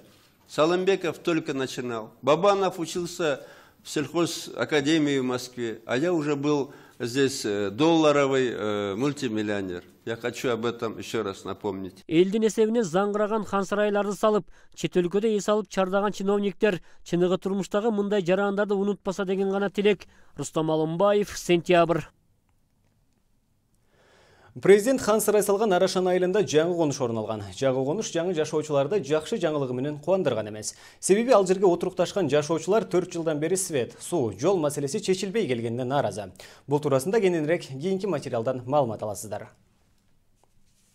Салымбеков только начинал. Бабанов учился в сельхозакадемии в Москве, а я уже был здесь долларовый э, мультимиллионер. Я хочу об этом еще раз напомнить. Элдин эсебине заңгыраган хан сарайларды салып, чет өлкөдө эс алып чардаган чиновниктер чыныгы турмуштагы мындай жарандарды унутпаса деген гана тилек. Рустам Алымбаев, Сентябрь. Президент хан сарай салган Арашан айылында жаңы конуш орун алган. Жаңы конуш жаңы жашоочуларды жакшы жаңылыгы менен кубандырган эмес. Себеби ал жерге отурукташкан жашоочулар төрт жылдан бери свет, суу, жол маселеси чечилбей келгенине нааразы. Бул туурасында кененирээк кийинки материалдан маалымат аласыздар.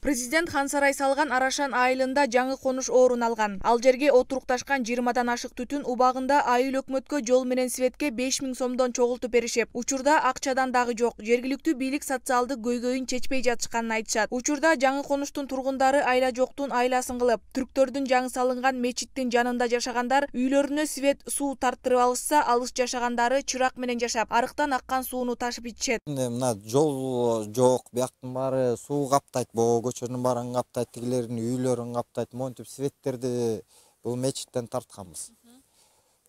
Президент хан сарай салган Арашан айылында жаңы конуш орун алган. Ал жерге отурукташкан жыйырмадан ашык түтүн убагында айыл өкмөткө жол менен светке беш миң сомдон чогултуп беришет. Учурда акчадан дагы жок. Жергиликтүү бийлик социалдык көйгөйүн чечпей жатышканын айтышат. Учурда жаңы конуштун тургундары айла жоктун айласын кылып, түрктөрдүн жаңы салынган мечиттин жанында жашагандар үйлөрүнө свет, суу тарттырып алышса, алыс жашагандары чырак менен жашап, арыктан аккан сууну ташып ичишет. Мына жол жок, бияктын баары суу каптайт, көчөнүн баарын каптайт, тигилердин үйлөрүн каптайт, монтип светтерди бул мечиттен тартканбыз.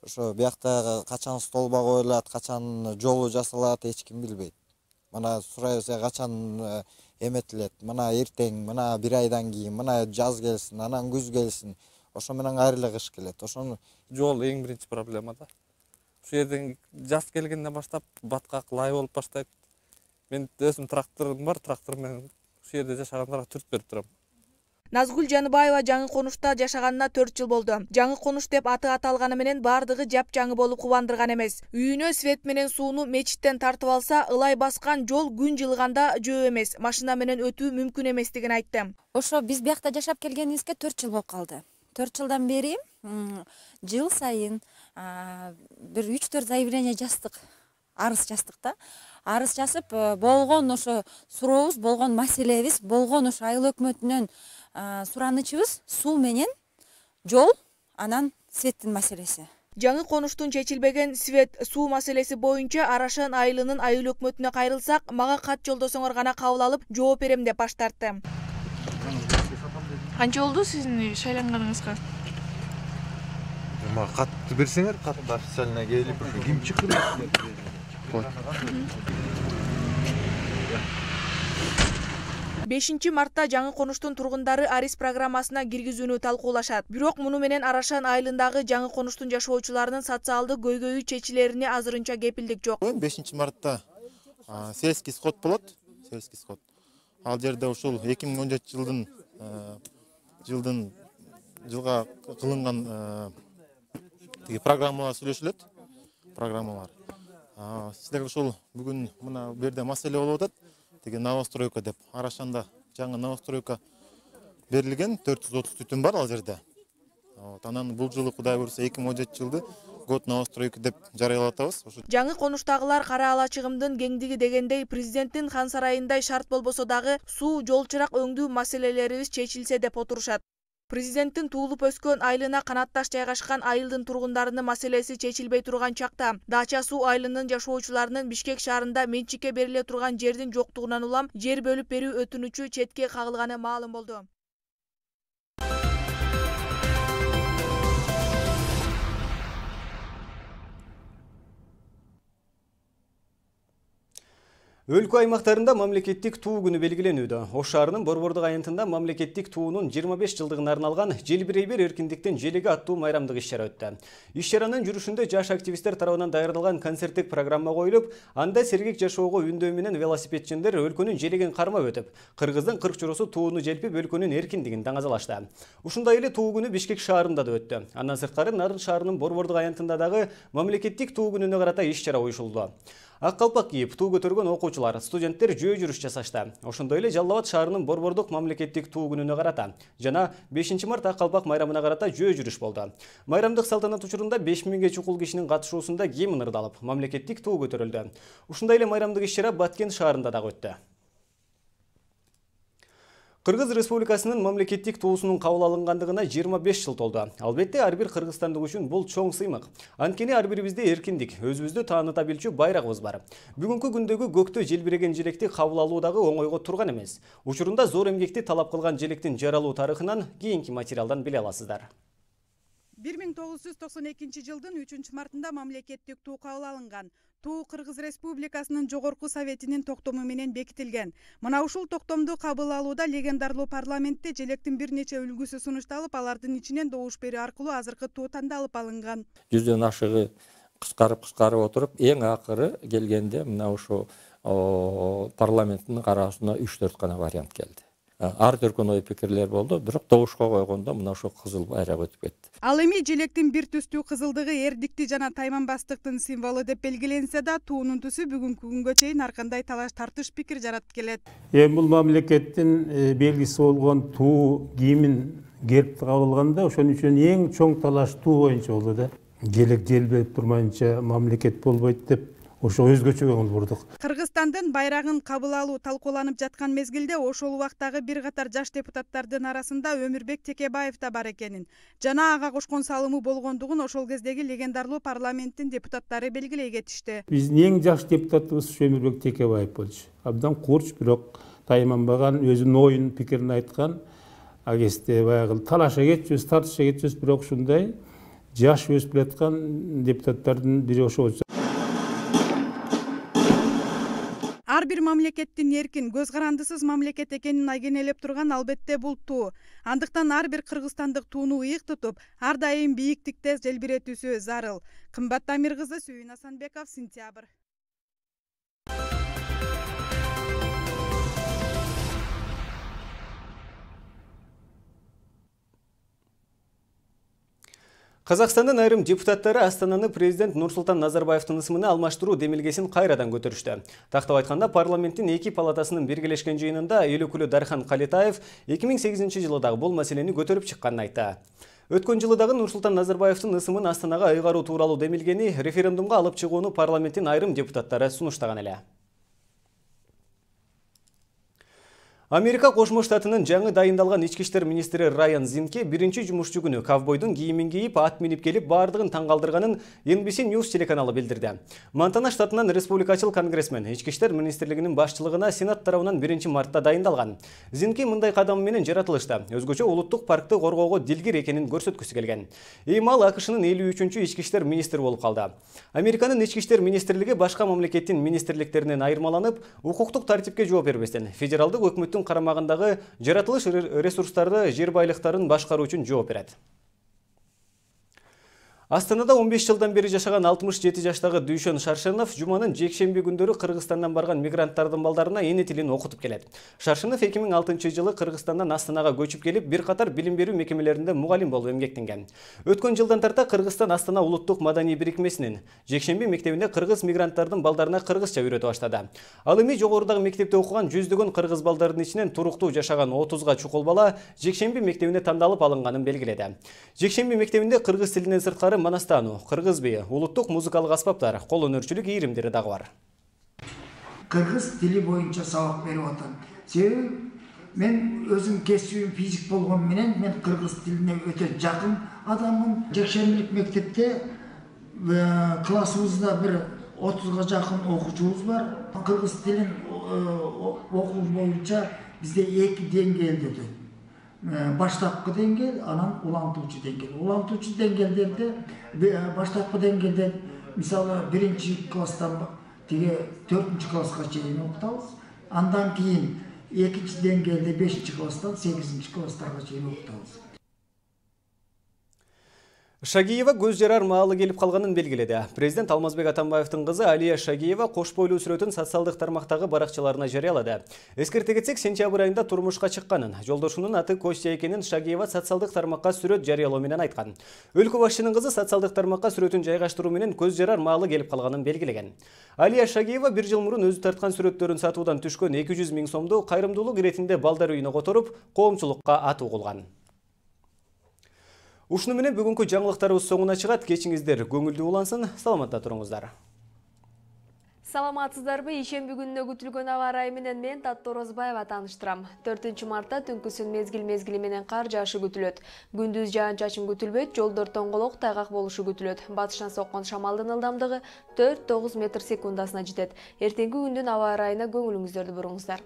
Ошо биякта качан столба коюлат, качан жолу жасалат, эч ким билбейт. Мына сурайбыз, качан эметилет, мына эртең, мына бир айдан кийин, мына жаз келсин, анан күз келсин. Ошо менен кайра эле кыш келет. Ошону жол эң биринчи проблема да. Ушул жерден жаз келгенден баштап баткак лай болуп баштайт. Мен өзүм тракторум бар, трактор менен ушул жерде жашагандарга түрт берип турам. Назгүл Жаныбаева жаңы конушта жашаганына төрт жыл болду. Жаңы конуш деп аты аталганы менен бардыгы жап-жаңы болуп кубандырган эмес. Үйүнө свет менен сууну мечиттен тартып алса, ылай баскан жол күн жылганда жөө эмес, машина менен өтүү мүмкүн эместигин айтты. Ошо биз биякта жашап келгенибизге төрт жыл болуп калды. төрт жылдан бери жыл сайын бир үч төрт заявление жаздык, арыз жаздык да. Арыз жазып болгон ошо сурообуз, болгон маселебиз, болгон ошо айыл өкмөтүнөн суранычыбыз суу менен жол, анан светтин маселеси. Жаңы конуштун чечилбеген свет суу маселеси боюнча Арашан айылынын айыл өкмөтүнө кайрылсак, мага кат жолдосоңор гана кабыл алып, жооп берем деп баш тартты. Канча болду сиздин шайланганыңызга? Мага катты берсеңер, катты официально келип, ким чыкты? бешинчи мартта жаңы конуштун тургундары Арис программасына киргизүүнү талкуулашат. Бирок муну менен Арашан айылындагы жаңы конуштун жашоочуларынын социалдык көйгөйү чечилерине азырынча кепилдик жок. бешинчи мартта сельский сход болот, сельский сход. Ал жерде ушул эки миң он жетинчи жылдын жылдын жылга кылынган программалар сүйлөшүлөт. Программалар. Сиздерге ушул бүгүн мына бу жерде маселе болуп атат. Деген новостройка деп. Арашанда жаңы новостройка берилген, төрт жүз отуз түтүн бар ал жерде. Вот, анан бул жылы Кудай буйрса эки миң он жетинчи жылды год новостройка деп жарыялап атабыз. Жаңы конуштагылар кара ала чыгымдын кеңдиги дегендей президенттин хан сарайындай шарт болбосо дагы суу, жол чырак өңдүү маселелерибиз чечилсе деп отурушат. Президенттин туулуп өскөн айылына канатташ жайгашкан айылдын тургундарынын маселеси чечилбей турган чакта Дача суу айылынын жашоочуларынын Бишкек шаарында менчикке бериле турган жердин жоктугунан улам жер бөлүп берүү өтүнүчү четке кагылганы маалым болду. Өлкө аймактарында мамлекеттик туу күнү белгиленүүдө. Ош шаарынын Борбордук айынтында мамлекеттик туунун жыйырма беш жылдыгына арналган Желбирей бер эркиндиктин желеги аттуу майрамдык иш-чара өттү. Иш-чаранын жүрүшүндө жаш активисттер тарабынан даярдалган концерттик программа коюлуп, анда сергек жашоого үндөө менен велосипедчиндер өлкөнүн желегин кармап өтүп, кыргыздын кырк чоросу тууну желпип өлкөнүн эркиндигин даңазалашты. Ушундай эле туу күнү Бишкек шаарында да өттү. Андан сырткары Нарын шаарынын Борбордук айынтында дагы мамлекеттик туу күнүнө карата иш-чара уюшулду. Ак калпак кийип туу көтөргөн окуучулар, студенттер жөө жүрүш жасашты. Ошондой эле Жалал Абад шаарынын Борбордук мамлекеттик туу күнүнө карата жана бешинчи март ак калпак майрамына карата жөө жүрүш болду. Майрамдык салтанат учурунда беш миңге чукул кишинин катышуусунда гимн ырдалып, мамлекеттик туу көтөрүлдү. Ушундай эле майрамдык иш-чара Баткен шаарында дагы өттү. Кыргыз Республикасынын мамлекеттик туусунун кабыл алынгандыгына жыйырма беш жыл толду. Албетте, ар бир кыргызстандык үчүн бул чоң сыймык. Анткени ар бирибизде эркиндик, өзүбүздү тааныта билчү байрагыбыз бар. Бүгүнкү күндөгү көктө желбиреген желекти кабыл алуу дагы оңойго турган эмес. Учурунда зор эмгекти талап кылган желектин жаралуу тарыхынан кийинки материалдан биле аласыздар. бир миң тогуз жүз токсон экинчи жылдын үчүнчү мартында мамлекеттик туу кабыл алынган. Туу Кыргыз Республикасынын жогорку советинин токтому менен бекитилген. Мына ушул токтомду кабыл алууда легендарлуу парламентте желектин бир нече үлгүсү сунушталып, алардын ичинен добуш берүү аркылуу азыркы туу тандалып алынган. Жүздөн ашыгы кыскарып кыскарып отуруп, эң акыры келгенде мына ушул парламенттин караасына үч төрт гана вариант келди. Ар түркөн ой пикирлер болду, бирок добушка койгондо мына ошо кызыл байрак өтүп кетти. Ал эми желектин бир түстүү кызылдыгы эрдикти жана тайманбастыктын символу деп белгиленсе да, туунун түсү бүгүнкү күнгө чейин ар кандай талаш тартыш пикир жаратып келет. Эми бул мамлекеттин белгиси болгон туу гимн гербти кабыл алганда ошон үчүн эң чоң талаш туу боюнча болду да. Желек желбирип турмайынча мамлекет болбойт деп ошо өзгөчө көңүл бурдук. Кыргызстандын байрагын кабыл алуу талкууланып жаткан мезгилде ошол убактагы бир катар жаш депутаттардын арасында Өмүрбек Текебаев да бар экенин жана ага кошкон салымы болгондугун ошол кездеги легендарлуу парламенттин депутаттары белгилей кетишти. Биздин эң жаш депутатыбыз Өмүрбек Текебаев болчу. Абдан курч, бирок тайманбаган, өзүнүн оюн, пикирин айткан. Ал кезде баягы талаша кетчүбүз, тартыша кетчүбүз, бирок ушундай жаш өсүп келаткан депутаттардын бири ошол. Ар бир мамлекеттин эркин, көз карандысыз мамлекет экенин айгинелеп турган албетте бул туу. Андыктан ар бир кыргызстандык тууну ыйык тутуп, ар дайым бийиктикте желбиретүүсү зарыл. Кымбат Тамир кызы, Сүйүн Асанбеков, Сентябрь. Казакстандын айрым депутаттары Астананы президент Нурсултан Назарбаевдин ысымына алмаштыруу демилгесин кайрадан көтөрүштү. Тактап айтканда, парламенттин эки палатасынын биргелешкен жыйынында эл өкүлү Дархан Калетаев эки миң сегизинчи жылы дагы бул маселени көтөрүп чыкканын айтты. Өткөн жылы дагы Нурсултан Назарбаевдин ысымын Астанага айгаруу тууралуу демилгени референдумга алып чыгууну парламенттин айрым депутаттары сунуштаган эле. Америка Кошмо Штатынын жаңы дайындалган ички иштер министри Райан Зинке биринчи жумушчу күнү ковбойдун кийимин кийип, ат минип келип, бардыгын таң калтырганын Эн Би Си News телеканалы билдирди. Монтана штатынан республикачыл конгрессмен ички иштер министрлигинин башчылыгына Сенат тарабынан биринчи мартта дайындалган. Зинке мындай кадам менен жаратылышта өзгөчө улуттук паркты коргоого дилгир экенин көрсөткүсү келген. Эми ал АКШнын элүү үчүнчү ички иштер министри болуп калды. Американын ички иштер министрлиги башка мамлекеттин министрликтеринен айырмаланып, укуктук тартипке жооп бербестен федералдык өкмөттүн карамагындагы жаратылыш ресурстарды, жер байлыктарын башкаруу үчүн жооп берет. Астанада он беш жылдан бери жашаган алтымыш жети жаштагы Дүйшөн Шаршенов жуманын жекшемби күндөрү Кыргызстандан барган мигранттардын балдарына эне тилин окутуп келет. Шаршенов эки миң алтынчы жылы Кыргызстандан Астанага көчүп келип, бир катар билим берүү мекемелеринде мугалим болуп эмгектенген. Өткөн жылдан тарта Кыргызстан Астана улуттук маданий бирикмесинин жекшемби мектебинде кыргыз мигранттардын балдарына кыргызча үйрөтө баштады. Ал эми жогорудагы мектепте окуган жүздөгөн кыргыз балдардын ичинен туруктуу жашаган отузга чукул бала жекшемби мектебине тандалып алынганын белгиледи. Жекшемби мектебинде кыргыз тилинен сырткары манастануу, кыргыз бии, улуттук музыкалык аспаптар, кол өнөрчүлүк ийримдери дагы бар. Кыргыз тили боюнча сабак берип атам. Себеби мен өзүм кесибим физик болгон менен мен кыргыз тилине өтө жакын адаммын. Жекшембилик мектепте классыбызда бир отузга жакын окуучубуз бар. Кыргыз тилин окуу боюнча бизде эки деңгээлде өтөт. Баштапкы деңгээл, анан улантуучу деңгээл. Улантуучу деңгээлдерде баштапкы деңгээлде мисалы биринчи класстан тиги төртүнчү класска чейин окутабыз. Андан кийин экинчи деңгээлде бешинчи класстан сегизинчи класстарга чейин окутабыз. Шагиева көз жарар маалы келип калганын белгиледи. Президент Алмазбек Атамбаевдин кызы Алия Шагиева кош бойлуу сүрөтүн социалдык тармактагы баракчаларына жарыялады. Эскерте кетсек, сентябрь айында турмушка чыкканын, жолдошунун аты Костя экенин Шагиева социалдык тармакка сүрөт жарыялоо менен айткан. Өлкө башчынын кызы социалдык тармакка сүрөтүн жайгаштыруу менен көз жарар маалы келип калганын белгилеген. Алия Шагиева бир жыл мурун өзү тарткан сүрөттөрүн сатуудан түшкөн эки жүз миң сомду кайрымдуулук иретинде балдар үйүнө которуп, коомчулукка атуу кылган. Ушуну менен бүгүнкү жаңылыктарыбыз соңуна чыгат. Кечиңиздер көңүлдүү улансын. Саламатта туруңуздар. Саламатсыздарбы? Ишемби күнүнө күтүлгөн аба ырайы менен мен Татты Орозбаева тааныштырам. төртүнчү мартта түнкүсүн мезгил-мезгили менен кар жаашы күтүлөт. Күндүз жаан-чачын күтүлбөйт, жолдор тоңголок, тайгак болушу күтүлөт. Батыштан соккон шамалдын ылдамдыгы төрт тогуз метр секундасына жетет. Эртеңки күндүн аба ырайына көңүлүңүздөрдү буруңуздар.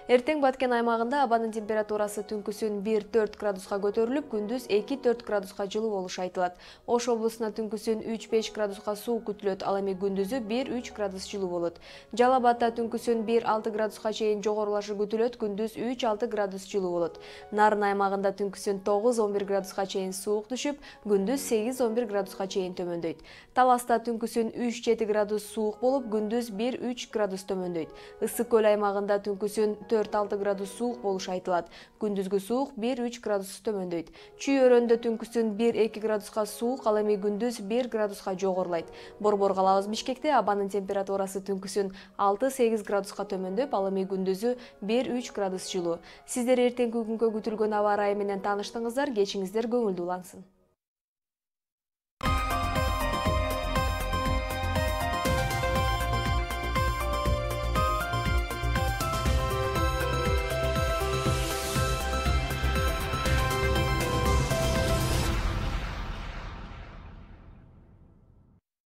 Эртең Баткен аймагында абанын температурасы түнкүсүн бир төрт градуска көтөрүлүп, күндүз эки төрт градуска жылуу болушу айтылат. Ош облусуна түнкүсүн үч беш градуска суук күтүлөт, ал эми күндүзү бир үч градус жылуу болот. Жалал Абадта түнкүсүн бир алты градуска чейин жогорулашы күтүлөт, күндүз үч алты градус жылуу болот. Нарын аймагында түнкүсүн тогуз он бир градуска чейин суук түшүп, күндүз сегиз он бир градуска чейин төмөндөйт. Таласта түнкүсүн үч жети градус суук болуп, күндүз бир үч градус төмөндөйт. Ысык көл аймагында түнкүсүн төрт алты градус суук болушу айтылат. Күндүзгү суук бир үч градус төмөндөйт. Чүй өрөндө түнкүсүн бир эки градуска суук, ал эми күндүз бир градуска жогорулайт. Борбор калабыз Бишкекте абанын температурасы түнкүсүн алты сегиз градуска төмөндөп, ал эми күндүзү бир үч градус жылуу. Сиздер эртеңки күнгө күтүлгөн аба ырайы менен тааныштыңыздар, кечиңиздер көңүлдүү улансын.